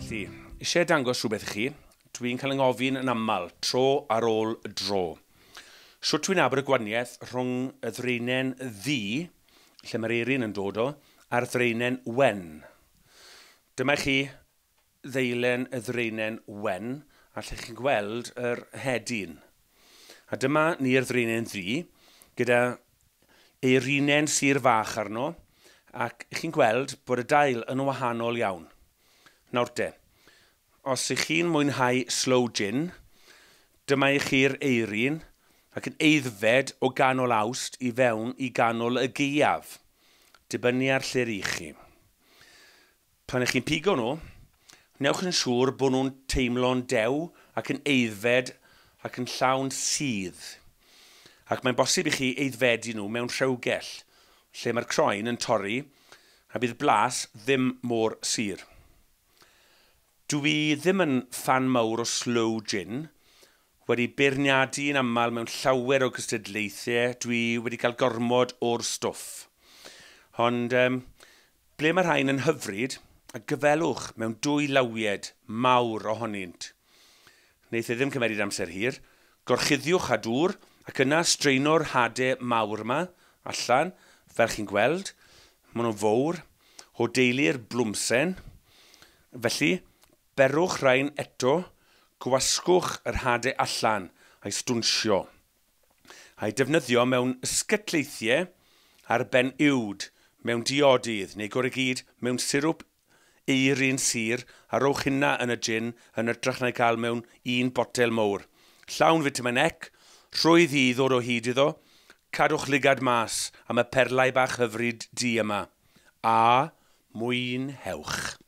Felly, eisiau dangos rhywbeth i chi. Dwi'n cael 'y ngofyn yn aml, tro ar ôl dro. Shwt dwi'n nabod y gwahaniaeth rhwng y ddraenen ddu, lle mae'r eirin yn dod o, a'r ddraenen wen. Dyma chi ddeilen y ddraenen wen, a lle chi'n gweld yr hedyn. A dyma ni'r ddraenen ddu, gyda eirinen sur fach arno, ac chi'n gweld bod y dail yn wahanol iawn. Nawr te, os ych chi'n mwynhau sloe gin, dyma i chi'r eirin, ac yn aeddfed o ganol Awst i fewn i ganol y gaeaf, dibynnu ar lle rych chi. Pan ych chi'n pigo nhw, newch yn siŵr bod nhw'n teimlo'n dew ac yn aeddfed ac yn llawn sudd. Ac mae'n bosib i chi aeddfedu nhw mewn rhewgell, lle mae'r croen yn torri a bydd blas ddim mor sur. Dw i ddim yn ffan mawr o sloe gin, wedi beirniadu yn aml mewn llawer o gystadlaethau, dwi wedi cael gormod o'r stwff. Ond um, ble mae rhain yn hyfryd, a gyfelwch mewn dwy lawied mawr ohonynt. Wneith e ddim cymeryd amser hir. Gorchuddiwch â dŵr ac yna straeno'r hade mawr yma allan, fel chi'n gweld. Maen nhw'n fowr, o deulu'r blwmsen. Felly, berwch rhain eto, gwasgwch yr hade allan a'i stwnsio. A'i defnyddio mewn ysgytleithiau ar ben uwd, mewn diodydd, neu gorau gyd mewn sirwp eirin sur a rowch hynna yn y gin yn hytrach na'i cael mewn un botel mowr. Llawn fitamin C, rhwydd i ddod o hyd iddo, cadwch lygad mas am y perlau bach hyfryd du yma. A mwynhewch.